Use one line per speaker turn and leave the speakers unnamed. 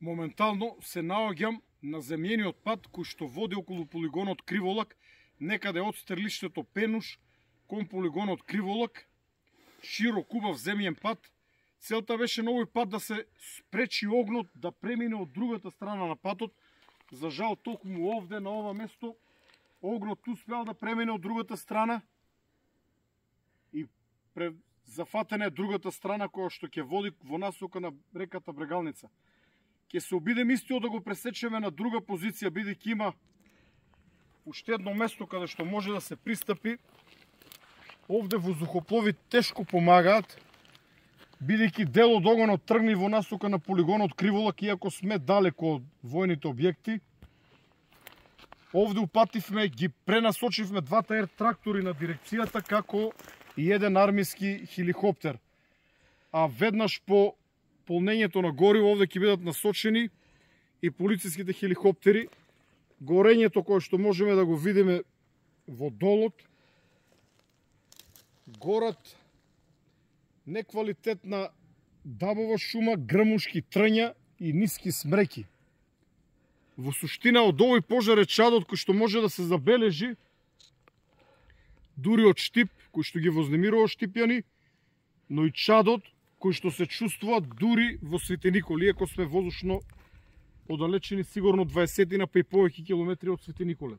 Моментално се наоѓам на земјениот пат кој што води околу полигонот Криволак, некаде од стрелиштето Пенуш кон полигонот Криволак, широк убав земјен пат. Целта беше на овој пат да се спречи огнот да премине од другата страна на патот. За жал, токму овде на ова место огнот успеал да премине од другата страна и зафатена е другата страна која што ќе води во насока на реката Брегалница. Ќе се обидем истиот да го пресечеме на друга позиција, бидејќи има уште едно место каде што може да се пристапи. Овде воздухоплови тешко помагаат, бидејќи дел од огонот тргни во насока на полигонот Криволак, иако сме далеко од војните објекти. Овде упативме, ги пренасочивме двата ер трактори на дирекцијата, како и еден армиски хеликоптер. А веднаш по полнењето на гориво овде ќе бидат насочени и полициските хеликоптери. Горењето кое што можеме да го видиме во долот, горат неквалитетна дабова шума, грмушки трња и ниски смреки. Во суштина од овој пожар е чадот кој што може да се забележи дури од штип, кој што ги вознемирува штипјани, но и чадот кој што се чувствува дури во Светеникол, иако сме воздушно оддалечени сигурно 20 па и повеќе километри од Светениколе.